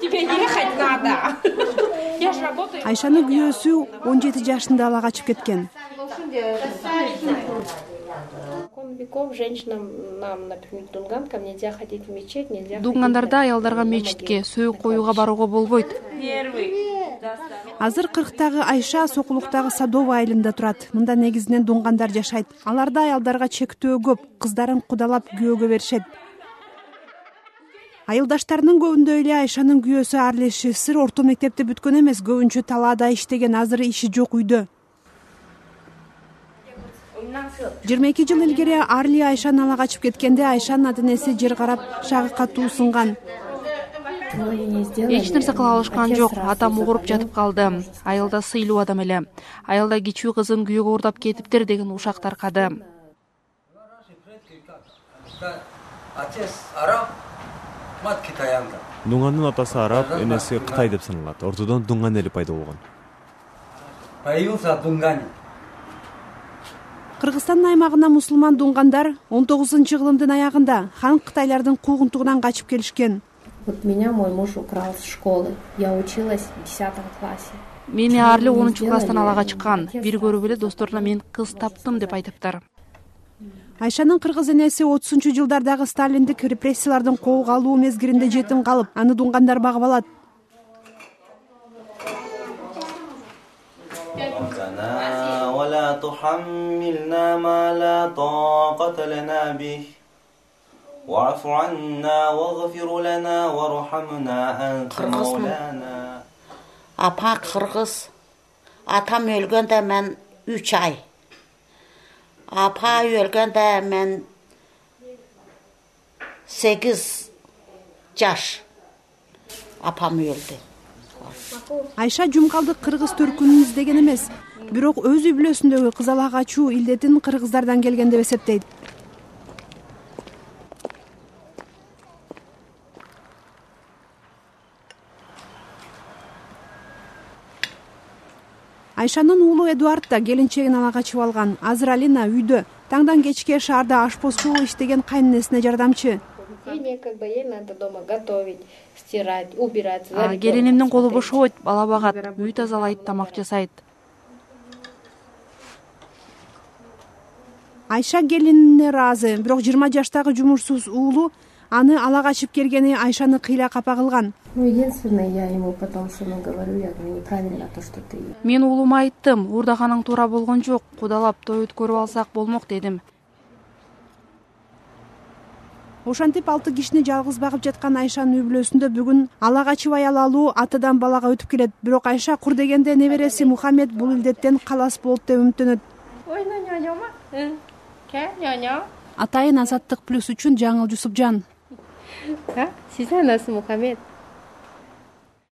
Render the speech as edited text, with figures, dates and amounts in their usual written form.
Тебе ехать надо. Я же работаю. Айшанын күйөөсү 17 жашында ала качып кеткен. Веков женщинам, нам, например, дунганкам нельзя ходить в мечеть, нельзя. Дунгандарда аялдарга мечитке, сөөк коюуга барууга болбойт. Азыр 40-тагы Айша Сокулуктагы Садовый айылында турат. Мында негизинен дунгандар жашайт. Аларда аялдарга чектөө көп, кыздарын кудалап күйөөгө беришет. Айылдаштарынын көбүндө эле Айшанын күйөөсү Арлеши сыр орто мектепти бүткөн эмес, көбүнчө талаада иштеген, азыр иши жок үйдө. 22 жыл илгери Арли Айшаны ала качып кеткенде Айшанын ата-энеси жер карап шагы катуу сынган. Эч нерсе кыла алышкан жок. Атам угуруп жатып калды. Айылда сыйлуу адам эле. Айылда кичүү кызын күйөөгө уурдап кетиптир деген ушак таркады. Дунгандын атасы араб, энеси Кытай деп саналат. Ортодон дунган эли пайда болгон. Кыргызстандын аймагына мусулман дунгандар 19-кылымдын аягында хан Кытайлардын куугунтугунан качып келишкен. Вот меня мой муж украл с школы. Я училась в 10 классе. Мени Арли 10-класстан ала качкан. Бир көрүп эле досторуна мен кыз таптым деп айтыптыр. Айшанын кыргыз энеси 30-жылдардагы сталиндик репрессиялардын колго алуу мезгилинде жетим калып, аны дунгандар багып алат. ولا تحملنا ما لا طاقة لنا به واعف عنا واغفر لنا وارحمنا أنت مولانا. Апа кыргыз. Атам өлгөндө мен 3 ай. Апа өлгөндө мен 8 жаш. Апам өлдү. Айша жумкалдык кыргыз төркүнүн издеген эмес, бирок өз үй бүлөсүндөгү кыз ала качуу илдетин кыргыздардан келген деп эсептейт. Айшанын уулу Эдуард да келинчегин ала качып алган. Азыр Алина үйдө таңдан кечке шаарда ашпозчу болуп иштеген кайненесине жардамчы. Ей надо дома готовить, стирать, убирать. Келинимдин колу бошобойт, бала багат, үй тазалайт, тамак жасайт. Айша келинине ыраазы, бирок 20 жаштагы жумушсуз уулу аны ала качып келгени Айшаны кыйла капа кылган. Единственное, я ему потом сыну говорю, я говорю, неправильно то, что ты. Мен уулума айттым, уурдаганың туура болгон жок, кудалап той өткөрүп алсак болмок дедим. Ошентип 6 кишини жалгыз багып жаткан Айшанын үй бүлөсүндө бүгүн ала качып аял алуу атадан балага өтүп келет. Бирок Айша кур дегенде небереси Мухаммед бул илдеттен калас болот деп үмүттөнөт. Атайын Азаттык плюс үчүн Жаңыл Жусупжан. Сиз анасы Мухаммед.